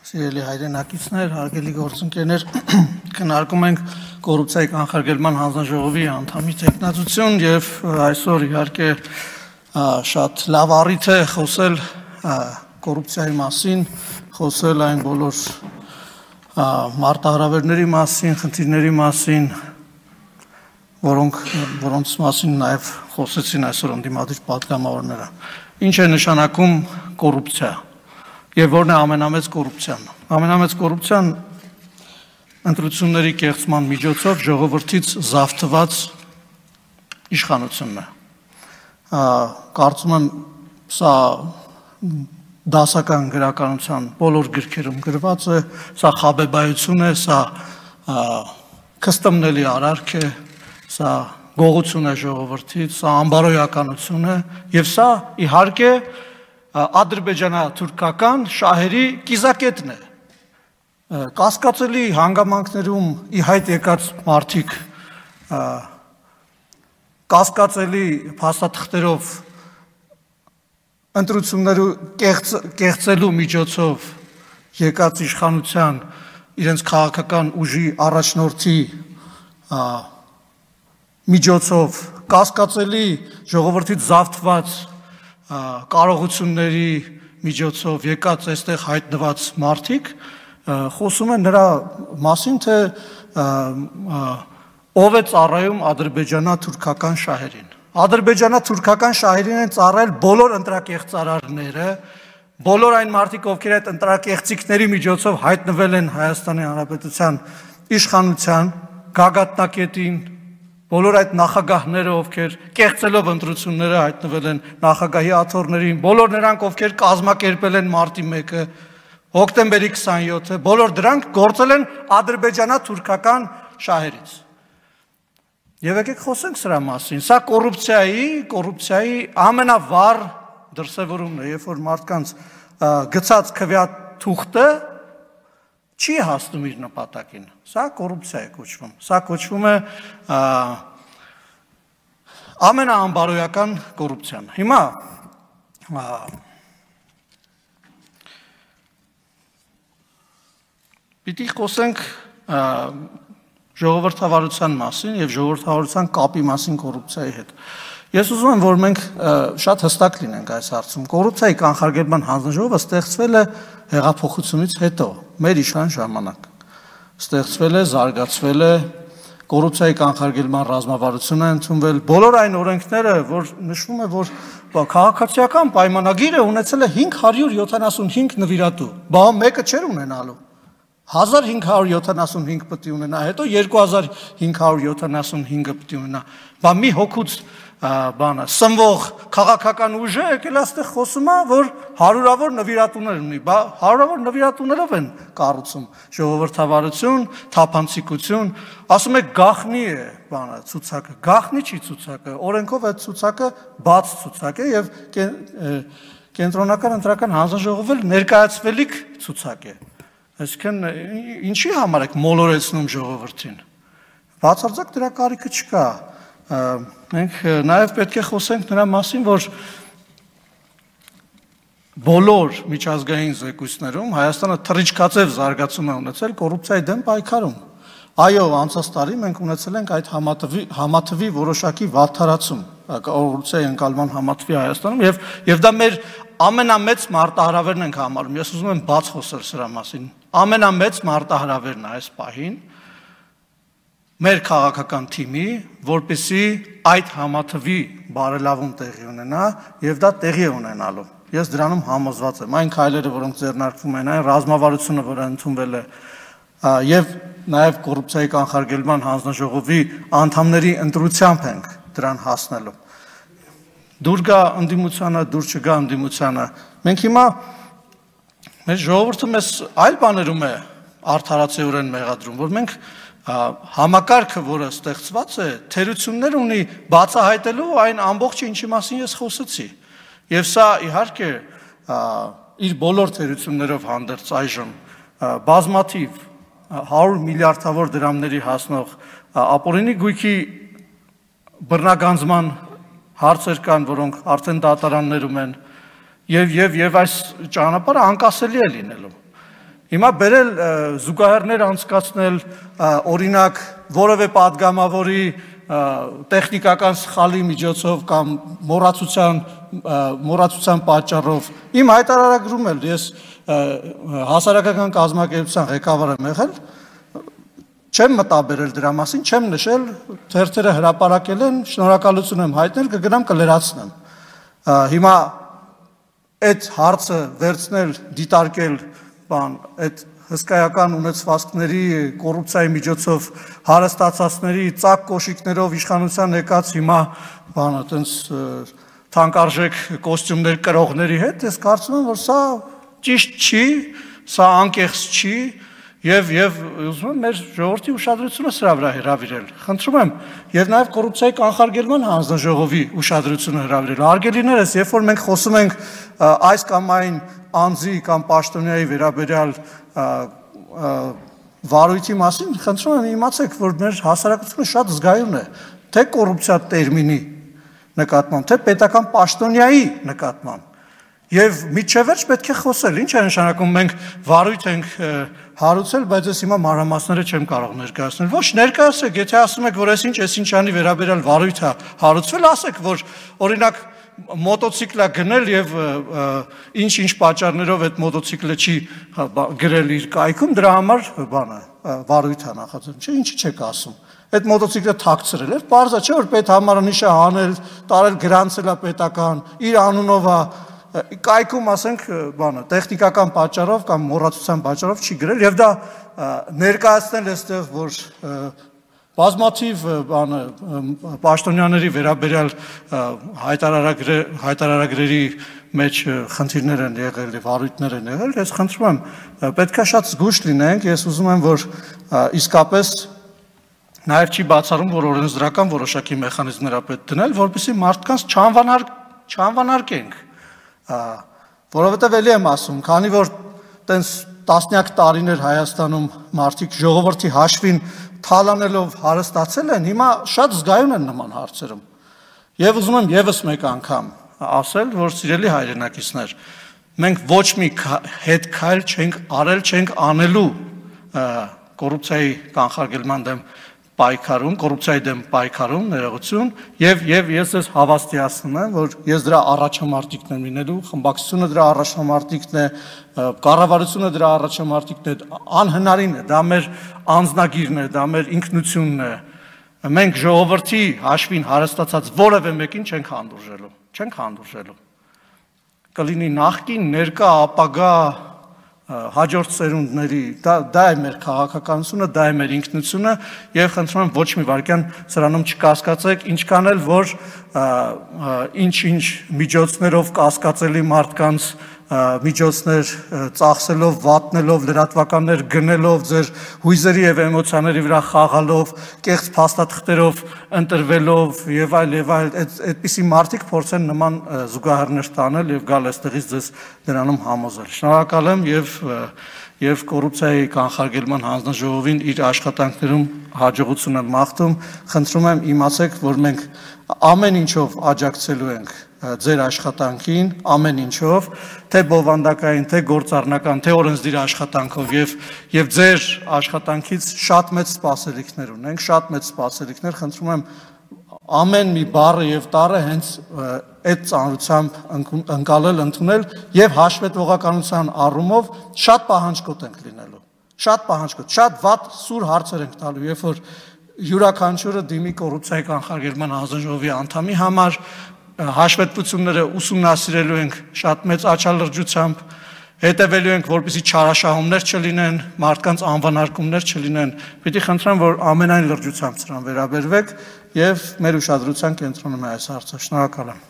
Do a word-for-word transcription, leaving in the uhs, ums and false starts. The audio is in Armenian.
Սիրելի հայրենակիցներ, հարգելի գործընկերներ, քննարկում ենք կոռուպցիայի կանխարգելման հանձնաժողովի անդամի տեխնացություն եւ այսօր իհարկե շատ լավ առիթ է խոսել կոռուպցիայի մասին, խոսել այն բոլոր մարտահրավերների մասին, խնդիրների մասին, որոնք որոնց մասին նաեւ խոսեցին այսօր ընդդիմադիր պատգամավորները։ Ինչ է նշանակում կոռուպցիա։ Եվ որն է ամենամեծ կոռուպցիան։ Ամենամեծ կոռուպցիան ընտրությունների կեղծման միջոցով ժողովրդից զավթված իշխանությունն է։ Կարծում եմ սա դասական գրականության բոլոր գրքերում գրված է, սա խաբեբայություն է, սա կստմնելի արարք է, սա գողություն է ժողովրդից, սա անբարոյականություն է, եւ սա իհարկե ադրբեջանա-թուրքական շահերի կիզակետն է։ Կասկածելի հանգամանքներում ի հայտ եկած մարդիկ կասկածելի փաստաթղթերով ընտրություններու կեղծելու միջոցով եկած իշխանության իրենց քաղաքական ուժի առաջնորդի միջոցով կասկածելի ժողովրդից զավթված կարողությունների միջոցով եկած այստեղ հայտնված մարդիկ խոսում են նրա մասին, թե ով է ծառայում ադրբեջանա-թուրքական շահերին։ Ադրբեջանա-թուրքական շահերին են ծառայել բոլոր ընտրակեղծարարները, բոլոր այն մարդիկ, ովքեր այդ ընտրակեղծիքների միջոցով հայտնվել են Հայաստանի Հանրապետության իշխանության գագաթնակետին, բոլոր այդ նախագահները, ովքեր կեղծելով ընտրությունները հայտնվել են նախագահի աթոռներին, բոլոր նրանք, ովքեր կազմակերպել են մարտի մեկը, հոկտեմբերի քսանյոթը, բոլոր դրանք գործել են ադրբեջանա-թուրքական շահերից։ Եվ եկեք խոսենք սրա մասին։ Սա կոռուպցիայի, կոռուպցիայի ամենավառ դրսևորումն է, երբ որ մարդկանց գցած քվեաթուղթը չի հասնում իր նպատակին։ Սա կոռուպցիա է կոչվում։ Սա կոչվում է ամենաանբարոյական կոռուպցիան։ Հիմա պիտի խոսենք ժողովրդավարության մասին եւ ժողովրդավարության կապի մասին կոռուպցիայի հետ։ Ես ուզում եմ, որ մենք շատ հստակ լինենք այս հարցում։ Կոռուպցիայի կանխարգելման հանձնաժողովը ստեղծվել է հեղափոխությունից հետո, մեր իշխան ժամանակ։ Ստեղծվել է, զարգացվել է, կոռուպցիայի կանխարգելման ռազմավարությունը ընդունվել, բոլոր այն օրենքները, որ նշվում է, որ քաղաքացիական պայմանագիրը ունեցել է հինգ հարյուր յոթանասունհինգ նվիրատու, բա մեկը չէր ունենալու։ հազար հինգ հարյուր յոթանասունհինգ պետք է ունենա, հետո երկու հազար հինգ հարյուր յոթանասունհինգը պետք է ունենա։ Բա մի հոգուց բանը սնվող քաղաքական ուժը եկել այստեղ խոսում է, որ հարյուրավոր նվիրատուներ ունի, բա հարյուրավոր նվիրատուներով են կառուցում ժողովրդավարություն, թափանցիկություն, ասում եք գաղտնի է բանը ցուցակը, գաղտնի չի ցուցակը, օրենքով այդ ցուցակը բաց ցուցակ է եւ կենտրոնական ընտրական հանձնաժողովը ներկայացվելիք ցուցակ է։ Այսինքն ինչի համար եք մոլորեցնում ժողովրդին։ Բացարձակ դրա կարիքը չկա։ Մենք նաև պետք է խոսենք նրա մասին, որ բոլոր միջազգային զեկույցներում Հայաստանը թռիչքաձև զարգացում է ունեցել կոռուպցիայի դեմ պայքարում։ Այո, անցած տարի մենք ունեցել ենք այդ համաթվի որոշակի վատթարացում, կոռուպցիայի ընկալման համաթվի Հայաստանում եւ եւ դա մեր ամենամեծ մարտահրավերն ենք համարում։ Ես ուզում եմ բաց խոսել սրա մասին։ Ամենամեծ մարտահրավերն է այս պահին մեր քաղաքական թիմի, որպեսզի այդ համաթվի բարելավում տեղի ունենա եւ դա տեղի է ունենալու։ Ես դրանում համոզված եմ։ Այն քայլերը, որոնք ձեռնարկվում են, այն ռազմավարությունը, որը ընդունվել է, եւ նաեւ կոռուպցիայի կանխարգելման հանձնաժողովի անդամների ընտրությամբ ենք դրան հասնելու։ Դուր գա ընդդիմությանը, դուր չգա ընդդիմությանը։ Մենք հիմա մեր ժողովուրդը մեզ այլ բաներում է արդարացիորեն մեղադրում, որ մենք համակարգը, որը ստեղծված է, թերություններ ունի բացահայտելու այն ամբողջը, ինչի մասին ես խոսեցի։ Եվ սա իհարկե իր բոլոր թերություններով հանդերձ այժմ բազմաթիվ հարյուր միլիարդավոր դրամների հասնող ապօրինի գույքի բռնագանձման հարցեր կան, որոնք արդեն դատարաններում են, եւ եւ եւ այս ճանապարհը անկասելի է լինելու։ Հիմա բերել զուգահեռներ անցկացնել, օրինակ որևէ падգամավորի տեխնիկական սխալի միջոցով կամ մոռացության մոռացության պատճառով իմ հայտարարագրում էլ ես հասարակական կազմակերպության ղեկավար եմ եղել, չեմ մտաբերել դրա մասին, չեմ նշել, թերթերը հրապարակել են, շնորհակալություն եմ հայտնել, կգնամ կլրացնեմ։ Հիմա այդ հարցը վերցնել, դիտարկել, բան, այդ հսկայական ունեցվածքների կոռուպցիայի միջոցով հարստացածների ծակ կոշիկներով իշխանության եկած հիմա բանը այտենց թանկարժեք կոստյումներ կրողների հետ, ես կարծում եմ, որ սա ճիշտ չի, սա անկեղծ չի եւ եւ ուզում եմ մեր ժողովրդի ուշադրությունը սրա վրա հրավիրել։ Խնդրում եմ եւ նաեւ կոռուպցիայի կանխարգելման հանձնաժողովի ուշադրությունը հրավիրել։ Արգելիներս, երբ որ մենք խոսում ենք այս կամ այն անձի կամ պաշտոնյայի վերաբերյալ վարույթի մասին, խնդրում եմ իմացեք, որ մեր հասարակությունը շատ զգայուն է, թե կոռուպցիա տերմինի նկատմամբ, թե պետական պաշտոնյայի նկատմամբ։ Եվ միջևերջ պետք է խոսել, ինչ է նշանակում մենք վարույթ ենք հարուցել, բայց ես հիմա մանրամասները չեմ կարող ներկայացնել։ Ոչ, ներկայացեք, եթե ասում եք, որ այսինչ, այսինչանի վերաբերյալ վարույթ է հարուցվել, ասեք, որ օրինակ մոտոցիկլա գնել եւ ինչ-ինչ պատճառներով այդ մոտոցիկլը չի գրել իր կայքում, դրա համար բանը վարույթ է նախաձեռնել։ Չէ, ինչի չեք ասում։ Այդ մոտոցիկլը թաքցրել էր, բարձա չէ որ պետհամարանիշը հանել, տարել գրանցել է պետական, իր անունով է կայքում ասենք բանը տեխնիկական պատճառով կամ մոռացության պատճառով չի գրել եւ դա ներկայացնել այստեղ որ բազմաթիվ բանը պաշտոնյաների վերաբերյալ հայտարարագրերի մեջ խնդիրներ են եղել եւ առույթներ են եղել, ես խնդրում եմ պետքա շատ զգույշ լինենք, ես ուզում եմ որ իսկապես նաեւ չի բացառում որ օրենսդրական որոշակի մեխանիզմներ պետք դնել, որպեսզի մարդկանց չանվանար չանվանարկենք, որովհետեւ էլի եմ ասում, քանի որ տենց տասնյակ տարիներ Հայաստանում մարդիկ ժողովրդի հաշվին թալանելով հարստացել են, հիմա շատ զգայուն են նման հարցերում։ Եվ ուզում եմ եւս մեկ անգամ ասել, որ սիրելի հայրենակիցներ, մենք ոչ մի հետ քայլ չենք արել, չենք անելու կոռուպցիայի կանխարգելման դեմ պայքարում, կոռուպցիայի դեմ պայքարում, ներողություն, եւ եւ ես ես հավաստիացնում եմ, որ ես դրա առաջամարտիկն եմ լինելու, խմբակցությունը դրա առաջամարտիկն է, կառավարությունը դրա առաջամարտիկն է, անհնարին է, դա մեր անձնագիրն է, դա մեր ինքնությունն է։ Մենք ժողովրդի հաշվին հարստացած որևէ մեկին չենք հանդուրժելու, չենք հանդուրժելու։ Կլինի նախկին, ներկա, ապագա հաջորդ սերունդների, դա է մեր քաղաքականությունը, դա է մեր ինքնությունը եւ խնդրում եմ ոչ մի վարքյան սրանում չկասկածեք, ինչքան էլ որ ինչ-ինչ միջոցներով կասկածելի մարդկանց միջոցներ ծախսելով, վատնելով, լրատվականներ գնելով, ձեր հույզերի եւ էմոցիաների վրա խաղալով, կեղծ փաստաթղթերով ընտրվելով եւ այլ եւ այլ, այդպիսի մարդիկ փորձեն նման զուգահեռներ տանել եւ գալ այստեղից ձեզ դրանում համոզել։ Շնորհակալ եմ եւ եւ կոռուպցիայի կանխարգելման հանձնաժողովին իր աշխատանքներում հաջողություն եմ մաղթում։ Խնդրում եմ իմացեք, որ մենք ամեն ինչով աջակցելու ենք ձեր աշխատանքին, ամեն ինչով, թե բովանդակային, թե գործառնական, թե օրենսդիր աշխատանքով եւ եւ ձեր աշխատանքից շատ մեծ սպասելիքներ ունենք, շատ մեծ սպասելիքներ, խնդրում եմ ամեն մի բառը եւ տառը հենց այդ ծանրությամբ ընկալել, ընդունել եւ հաշվետվողականության առումով շատ պահանջկոտ ենք լինելու, շատ պահանջկոտ, շատ վատ սուր հարցեր ենք տալու, երբ որ յուրաքանչյուրը դիմի կոռուպցիայի կանխարգելման հանձնաժողովի անդամի համար հաշվետվությունները ուսումնասիրելու ենք շատ մեծ աչալրջությամբ, հետևելու ենք, որպեսզի չարաշահումներ չլինեն, մարդկանց անվանարկումներ չլինեն, պիտի խնդրեմ, որ ամենայն լրջությամբ սրան վերաբերվեք եւ մեր ուշադրության կենտրոնում է այս հարցը։ Շնորհակալ եմ։